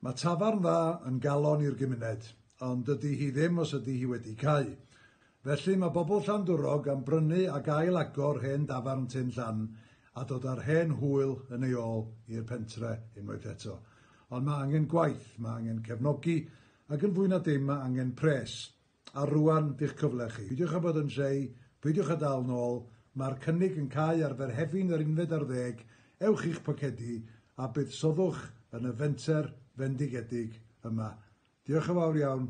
Mae tafarn dda yn galon i'r gymuned, ond dydy hi ddim os ydy hi wedi cau. Felly mae bobl Llandwrog am brynu ac ail agor hen dafarn Tyn Llan a dod â'r hen hwyl yn ei ôl i'r pentre unwaith eto. Ond mae angen gwaith, mae angen cefnogi, ac yn fwy na dim mae angen pres. A rŵan 'di'ch cyfle chi. Peidiwch â bod yn shy, peidiwch â dal nôl, mae'r cynnig yn cau ar Ferhefin yr 11, ewch i'ch pocedi a buddsoddwch yn y fenter fendigedig yma. Diolch yn fawr iawn.